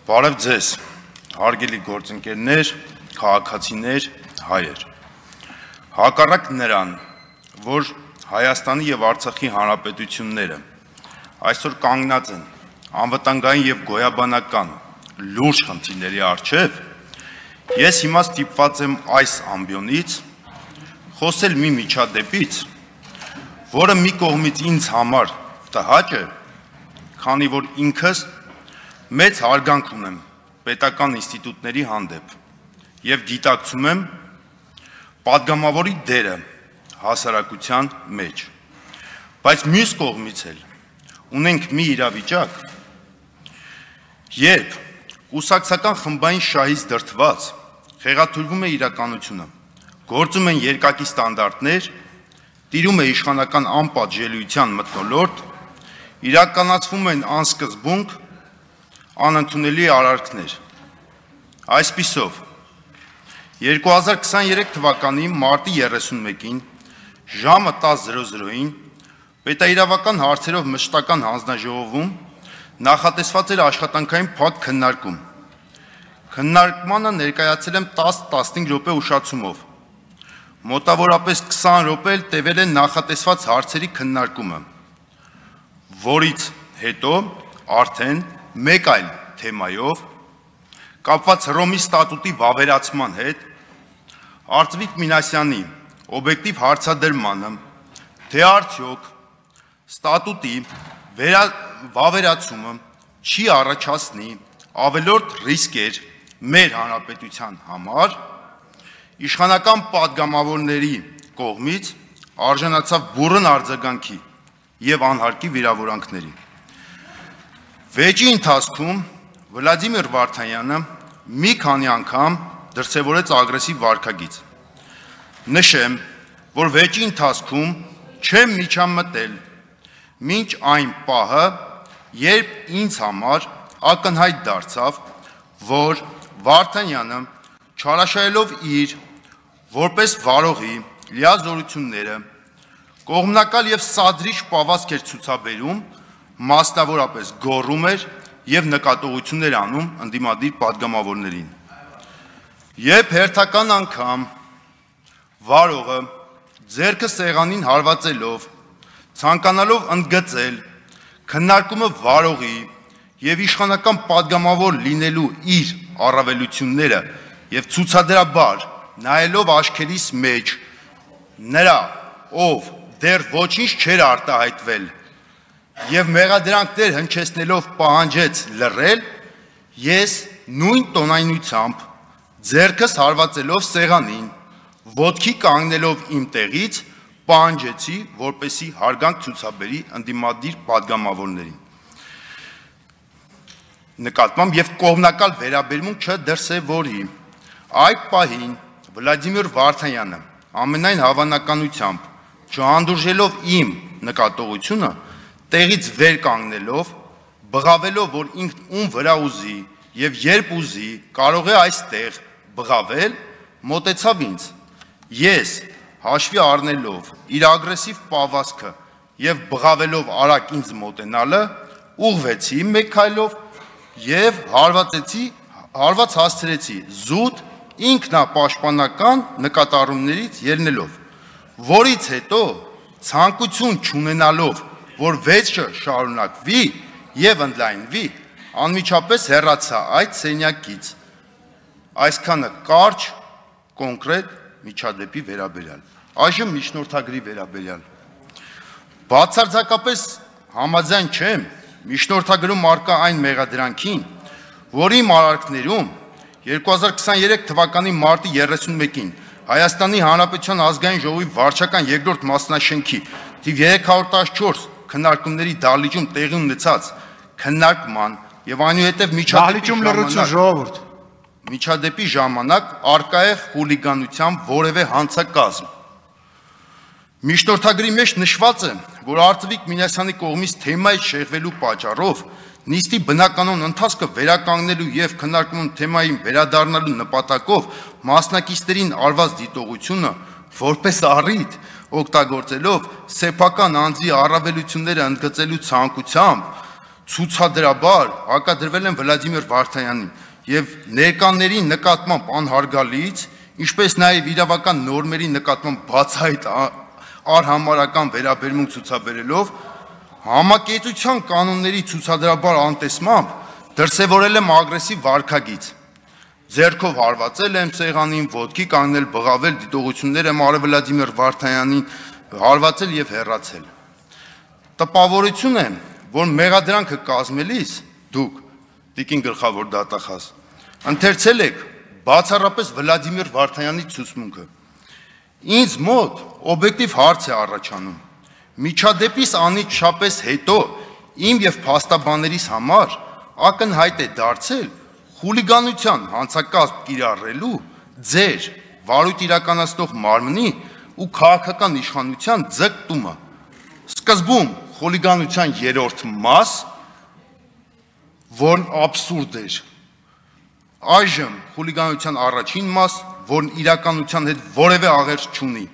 Բարև ձեզ, հարգելի գործընկերներ, քաղաքացիներ, հայեր։ Հակառակ նրան, որ Հայաստանի եւ Արցախի հանրապետությունները այսօր կանգնած են անվտանգային եւ գոյաբանական լուրջ խնդիրների առջեւ, ես հիմա ստիպված եմ այս ամբիոնից խոսել մի միջադեպից, որը մի կողմից ինձ համար տհաճ է, քանի որ ինքս մեծ հարգանք ունեմ պետական ինստիտուտների հանդեպ եւ գիտակցում եմ պատգամավորի դերը հասարակության մեջ, բայց մյուս կողմից էլ ունենք մի իրավիճակ, երբ կուսակցական խմբային շահից դրդված խեղաթյուրվում է իրականությունը, գործում են երկակի ստանդարտներ, տիրում է իշխանական անպատժելիության մթնոլորտ, իրականացվում են անսկզբունք, անընդունելի արարքներ։ Այսպիսով, 2023 թվականի մարտի 31-ին ժամը 10:00-ին պետաիրավական հարցերով մշտական հանձնաժողովում նախատեսված էր աշխատանքային փակ քննարկում։ Քննարկմանը ներկայացել եմ 10-15 րոպե ուշացումով։ Մոտավորապես 20 րոպե էլ տևել է նախատեսված հարցերի քննարկումը, որից հետո արդեն մեկ այլ թեմայով, կապված Հռոմի ստատուտի վավերացման հետ, Արծվիկ Մինասյանի օբյեկտիվ հարցադրմանը, թե արդյոք ստատուտի վավերացումը չի առաջացնի ավելորդ ռիսկեր մեր հանրապետության համար, իշխանական պատգամավորների կողմից արժանացավ բուռն արձագանքի եւ անհարկի վիրավորանքների։ Վեճի ընթացքում Վլադիմիր Վարդանյանը մի քանի անգամ դրսևորեց ագրեսիվ վարքագիծ։ Նշեմ, որ վեճի ընթացքում չեմ միջամտել մինչ այն պահը, երբ ինձ համար ակնհայտ դարձավ, որ Վարդանյանը չարաշահելով իր որպես վարողի լիազորությունները կողմնակալ եւ սադրիչ պահվածք էր ցուցաբերում, մասնավորապես գոռում էր եւ նկատողություններ անում ընդդիմադիր պատգամավորներին։ Երբ հերթական անգամ վարողը ձեռքը սեղանին հարվածելով, ցանկանալով ընդգծել քննարկումը վարողի եւ իշխանական պատգամավոր լինելու իր առավելությունները եւ ցուցադրաբար նայելով աչքերիս մեջ նրա, ով դեռ ոչինչ չէր արտահայտվել եւ մեղադրանքներ հնչեցնելով պահանջեց լռել, ես նույն տոնայնությամբ ձեռքս հարվածելով սեղանին, ոտքի կանգնելով իմ տեղից պահանջեցի, որպեսի հարգանք ցուցաբերի ընդդիմադիր պատգամավորներին նկատմամբ եւ կողմնակալ վերաբերմունք չդրսևորի։ Այդ պահին Վլադիմիր Վարդանյանը ամենայն հավանականությամբ չհանդուրժելով իմ նկատողությունը, տեղից վեր կանգնելով, բղավելով, որ ինքն ում վրա ուզի եւ երբ ուզի կարող է այստեղ բղավել, մոտեցավ ինձ։ Ես հաշվի առնելով իր ագրեսիվ պահվածքը եւ բղավելով արագ ինձ մոտենալը, ուղղվեցի մեկ քայլով եւ հարված հասցրեցի զուտ ինքնապաշտպանական նկատառումներից ելնելով, որից հետո ցանկություն չունենալով, որ վեճը շարունակվի եւ ընդլայնվի, անմիջապես հեռացա այդ սենյակից։ Այսքանը կարճ, կոնկրետ միջադեպի վերաբերյալ։ Այժմ միջնորդագրի վերաբերյալ։ Բացարձակապես համաձայն չեմ միջնորդագրում առկա այն մեղադրանքին, որի մարարկներում 2023 թվականի մարտի 31-ին Հայաստանի Հանրապետության ազգային ժողովի վարչական երկրորդ մասնաշենքի թիվ 314 քննարկումների դահլիճում տեղի ունեցած քննարկման եւ այնուհետեւ միջադեպի ժամանակ առկա է խուլիգանության որևէ հանցակազմ։ Միջնորդագրի մեջ նշված է, որ Արծվիկ Մինասյանի կողմից թեմայի շեղվելու պատճառով նիստի բնականոն ընթացքը վերականգնելու եւ քննարկման թեմային վերադառնալու նպատակով մասնակիցներին արված դիտողությունը որպես առիթ օգտագործելով սեփական անձի առավելությունները ընդգծելու ցանկությամբ ցուցադրաբար հակադրվել են Վլադիմիր Վարդանյանին եւ ներկաների նկատմամբ անհարգալից, ինչպես նաեւ իրավական նորմերի նկատմամբ բացահայտ արհամարական վերաբերմունք ցուցաբերելով համակեցության կանոնների ցուցադրաբար անտեսմամբ դրսևորել եմ ագրեսիվ վարքագիծ։ Ձեռքով հարվածել եմ սեղանին, ոտքի կանգնել, բղավել, դիտողություններ եմ արել Վլադիմիր Վարդանյանին, հարվածել եւ հեռացել։ Տպավորություն է, որ մեղադրանքը կազմելիս դուք, տիկին գլխավոր դատախազ, ընթերցել եք բացառապես Վլադիմիր Վարդանյանի ցուցմունքը։ Ինձ մոտ օբյեկտիվ հարց է առաջանում։ Միջադեպիս անիծշապես հետո իմ եւ փաստաբաններիս համար ակնհայտ է դարձել խուլիգանության հանցակազմ կիրառելու ձեր վարույթ իրականացնող մարմնի ու քաղաքական իշխանության ձգտումը։ Սկզբում խուլիգանության երրորդ մաս, որն աբսուրդ էր։ Այժմ խուլիգանության առաջին մաս, որն իրականության հետ որևէ աղերս չունի։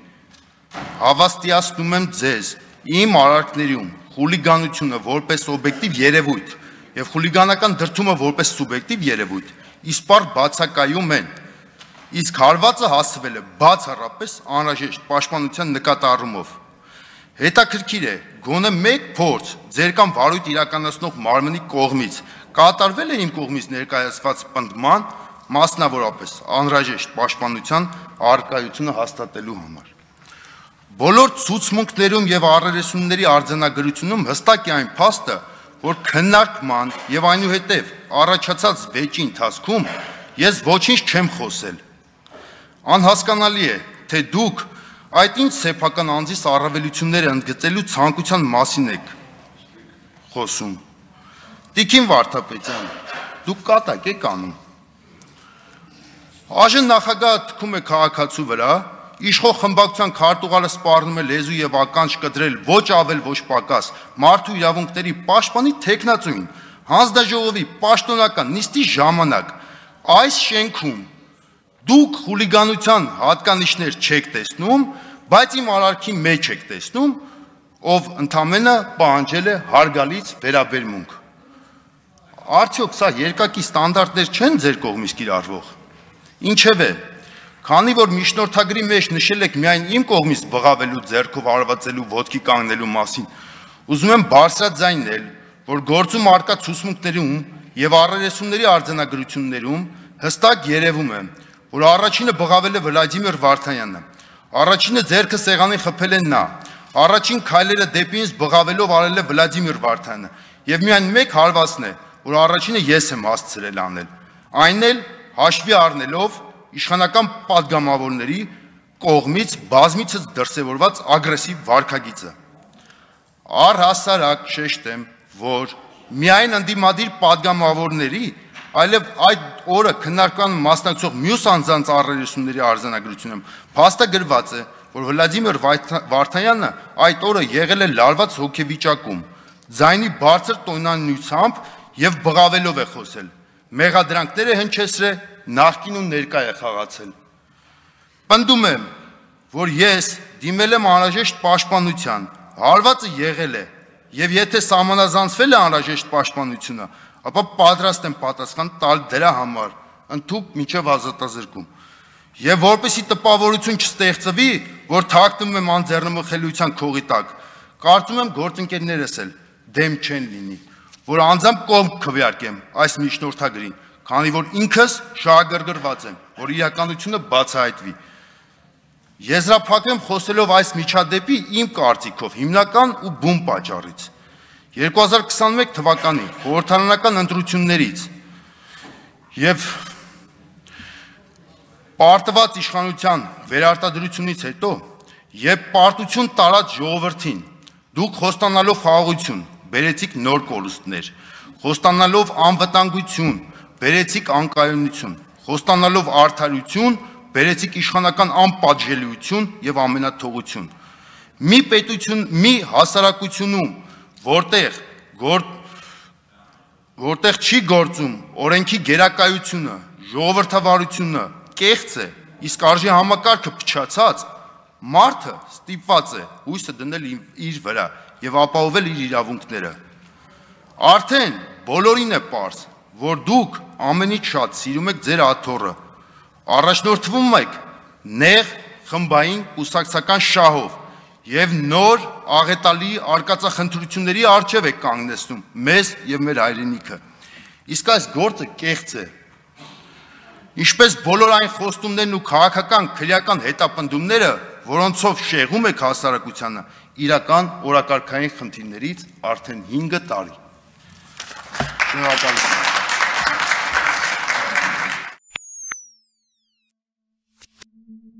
Հավաստիացնում եմ ձեզ, իմ արարքներում խուլիգանությունը որպես օբյեկտիվ երևույթ եւ խուլիգանական դրդումը որպես սուբյեկտիվ երևույթ իսպառ բացակայում են, իսկ հարվածը հասցվել է բացառապես անհրաժեշտ պաշտպանության նկատառումով։ Հետաքրքիր է, գոնե մեկ փորձ ձեր կամ վարույթ իրականացնող մարմնի կողմից կատարվել է իմ կողմից ներկայացված պնդման, մասնավորապես անհրաժեշտ պաշտպանության առկայությունը հաստատելու համար։ Բոլոր ցուցմունքներում եւ առերեսումների արձանագրությունում հստակ է այն փաստը, որ քննարկման եւ այնուհետեւ առաջացած վեճի ընթացքում ես ոչինչ չեմ խոսել։ Անհասկանալի է, թե դուք այդ ինչ սեփական անձիս առավելությունները ընդգծելու ցանկության մասին եք խոսում։ Տիկին Վարդապետյան, դուք կատակ եք անում։ Այժմ նախագահը թքում է քաղաքացու վրա, իշխող խմբակցության քարտուղարը սպառնում է լեզու եւ ականջ կտրել ոչ ավել ոչ պակաս մարդու իրավունքների պաշտպանի թեկնածուին, հանձնաժողովի պաշտոնական նիստի ժամանակ այս շենքում դուք խուլիգանության հատկանիշներ չեք տեսնում, բայց իմ արարքի մեջ եք տեսնում, ով ընդամենը պահանջել է հարգալից վերաբերմունք։ Արդյոք սա երկակի ստանդարտներ չեն ձեր կողմից կիրառվող։ Ինչևէ, քանի որ միջնորդագրի մեջ նշել եք միայն իմ կողմից բղավելու, ձեռքով հարվածելու, ոտքի կանգնելու մասին, ուզում եմ բարձրաձայնել, որ գործում առկա ցուցմունքներում եւ առերեսումների արձանագրություններում հստակ երևում է, որ առաջինը բղավել է Վլադիմիր Վարդանյանը, առաջինը ձեռքը սեղանին խփել է նա, առաջին քայլերը դեպի ինձ բղավելով արել է Վլադիմիր Վարդանյանը եւ միայն մեկ հարվածն է, որ առաջինը ես եմ հասցրել անել, այն էլ հաշվի առնելով իշխանական պատգամավորների կողմից բազմիցս դրսևորված ագրեսիվ վարքագիծը։ Առհասարակ շեշտեմ, որ միայն ընդդիմադիր պատգամավորների, այլև այդ օրը քննարկման մասնակցող մյուս անձանց առերեսումների արձանագրությունում փաստագրված է, որ Վլադիմիր Վարդանյանը այդ օրը եղել է լարված հոգեվիճակում, ձայնի բարձր տոնայնությամբ եւ բղավելով է խոսել, մեղադրանքներ է հնչեցրել, նախկինում ներկա է խաղացել։ Պնդում եմ, որ ես դիմել եմ անհրաժեշտ պաշտպանության, հարվածը եղել է, եւ եթե սահմանազանցվել է անհրաժեշտ պաշտպանությունը, ապա պատրաստ եմ պատասխան տալ դրա համար, ընդհուպ մինչև ազատազրկում։ Եվ որպեսզի տպավորություն չստեղծվի, որ թաքնվում եմ անձեռնմխելիության քողի տակ, կարծում եմ գործընկերներս էլ դեմ չեն լինի, որ անձամբ կողմ քվեարկեմ այս միջնորդագրին, քանի որ ինքս շահագրգռված եմ, որ իրականությունը բացահայտվի։ Եզրափակեմ խոսելով այս միջադեպի իմ կարծիքով հիմնական ու բուն պատճառից։ 2021 թվականի խորհրդարանական ընտրություններից եւ պարտված իշխանության վերարտադրությունից հետո եւ պարտություն տարած ժողովրդին դուք խոստանալով խաղաղություն բերեցիք նոր կորուստներ, խոստանալով անվտանգություն բերեցիք անկայունություն, խոստանալով արդարություն բերեցիք իշխանական անպատժելիություն եւ ամենաթողություն։ Մի պետություն, մի հասարակությունում, որտեղ չի գործում օրենքի գերակայությունը, ժողովրդավարությունը, կեղծ է, իսկ արժի համակարգը փչացած, մարդը ստիպված է հույսը դնել իր վրա եւ ապահովել իր իրավունքները։ Արդեն բոլորին է պարզ, որ դուք ամենից շատ սիրում եք ձեր աթոռը, առաջնորդվում եք նեղ խմբային կուսակցական շահով եւ նոր աղետալի արկածախնդրությունների առջև եք կանգնեցնում մեզ եւ մեր հայրենիքը։ Իսկ այս գործը կեղծ է։ Ինչպես բոլոր այն խոստումներն ու քաղաքական քրեական հետապնդումները, որոնցով շեղում եք հասարակությանը, իրական օրակարգային խնդիրներից արդեն 5 տարի։ Շնորհակալություն։